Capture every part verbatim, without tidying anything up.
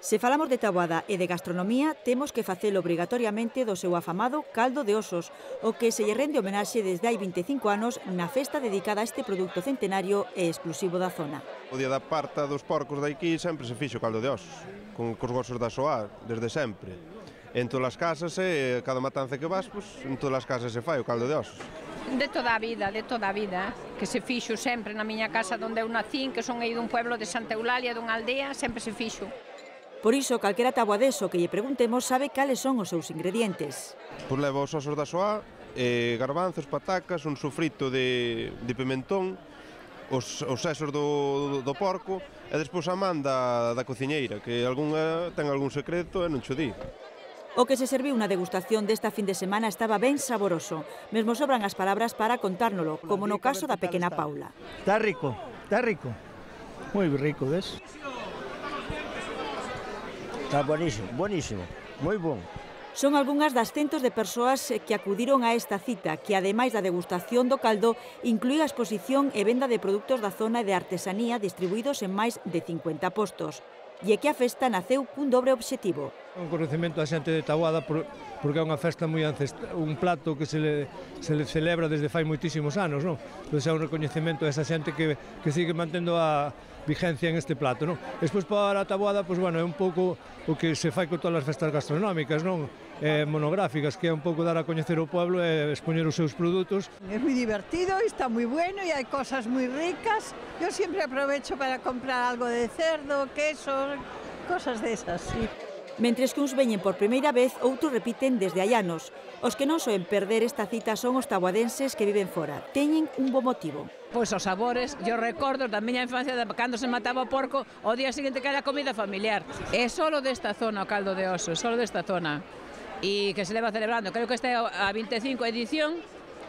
Se falamos de taboada e de gastronomía, temos que facelo obrigatoriamente do seu afamado caldo de osos, o que se lle rende homenaxe desde hai vinte e cinco anos na festa dedicada a este produto centenario e exclusivo da zona. O día da parta dos porcos de aquí sempre se fixo caldo de osos, con cos gosos da soa, desde sempre. En todas as casas, e cada matanza que vas, pues, en todas as casas se fai o caldo de osos. De toda a vida, de toda a vida, que se fixo sempre na miña casa onde eu nacín, que son aí dun pueblo de Santa Eulalia, dunha aldea, sempre se fixo. Por iso, calquera taboadeso que lle preguntemos sabe cales son os seus ingredientes. Pois leva os osos da soa, eh, garbanzos, patacas, un sofrito de, de pimentón, os, os sesos do, do porco e despois a man da, da cociñeira, que algunha ten algún secreto e non cho di. O que se serviu na degustación desta fin de semana estaba ben saboroso. Mesmo sobran as palabras para contárnolo, como no caso da pequena Paula. Está rico, está rico. Moi rico, ves? Está buenísimo, buenísimo, moi bon. Son algunhas das centos de persoas que acudiron a esta cita, que ademais da degustación do caldo, incluía a exposición e venda de produtos da zona e de artesanía distribuídos en máis de cincuenta postos. E é que a festa naceu cun dobre obxectivo. Un conocemento a xente de Taboada porque é unha festa moi ancestral, un plato que se le, se le celebra desde fai moitísimos anos, non? Entón é un recoñecemento a esa xente que, que sigue mantendo a vigencia en este plato, non? Despois para a Taboada, pois, bueno, é un pouco o que se fai con todas as festas gastronómicas, non? Eh, monográficas, que é un pouco dar a coñecer o pueblo e expoñer os seus produtos. É moi divertido, está moi bueno e hai cosas moi ricas. Eu sempre aprovecho para comprar algo de cerdo, queso, cosas desas, sí. Mentres que uns veñen por primeira vez, outros repiten desde hai anos. Os que non soen perder esta cita son os taboadenses que viven fora. Teñen un bo motivo. Pois os sabores, eu recordo da miña infancia de cando se mataba o porco, o día seguinte que era comida familiar. É solo desta zona o caldo de oso, solo desta zona. E que se leva celebrando, creo que esta é a vinte e cinco edición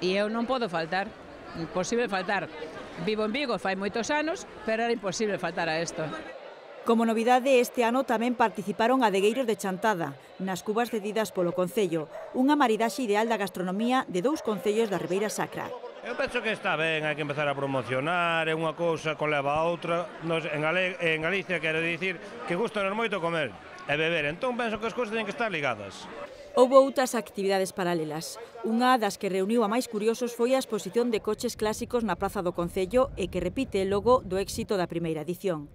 e eu non podo faltar, imposible faltar. Vivo en Vigo fai moitos anos, pero era imposible faltar a isto. Como novidade, este ano tamén participaron adegueiros de Chantada, nas cubas cedidas polo Concello, unha maridaxe ideal da gastronomía de dous concellos da Ribeira Sacra. Eu penso que está ben, hai que empezar a promocionar, é unha cousa coleva a outra. Nos, en, Gale, en Galicia quero dicir que gusta moito comer e beber, entón penso que as cousas teñen que estar ligadas. Houbo outras actividades paralelas. Unha das que reuniu a máis curiosos foi a exposición de coches clásicos na Praza do Concello e que repite logo do éxito da primeira edición.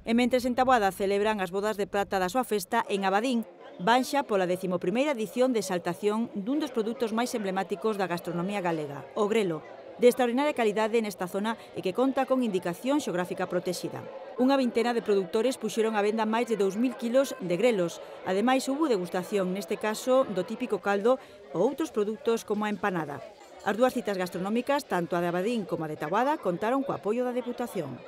E mentres en Taboada celebran as bodas de prata da súa festa, en Abadín van xa pola decimoprimeira edición de exaltación dun dos produtos máis emblemáticos da gastronomía galega, o grelo, de extraordinaria calidade nesta zona e que conta con indicación xeográfica protexida. Unha vintena de produtores puxeron a venda máis de dous mil kilos de grelos. Ademais, houbo degustación, neste caso, do típico caldo ou outros produtos como a empanada. As dúas citas gastronómicas, tanto a de Abadín como a de Taboada, contaron co apoio da Deputación.